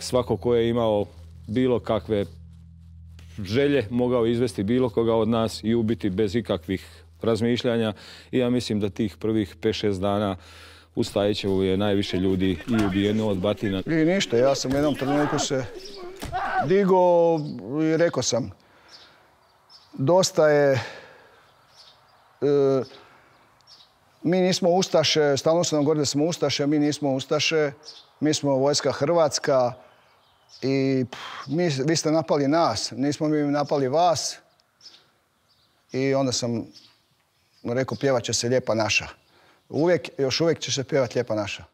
Svako ko je imao bilo kakve želje mogao izvesti bilo koga od nas i ubiti bez ikakvih razmišljanja. I ja mislim da tih prvih 5-6 dana u Stajićevu je najviše ljudi i ubijeno od batina. I ništa, ja sam u jednom trenutku se digao i rekao sam, dosta je, mi nismo ustaše, stalno su nam govorili da smo ustaše, mi nismo ustaše, mi smo vojska Hrvatska i vi ste napali nas, nismo mi napali vas. I onda sam rekao, pjevat će se Lijepa naša. Još uvijek će se pjevati Lijepa naša.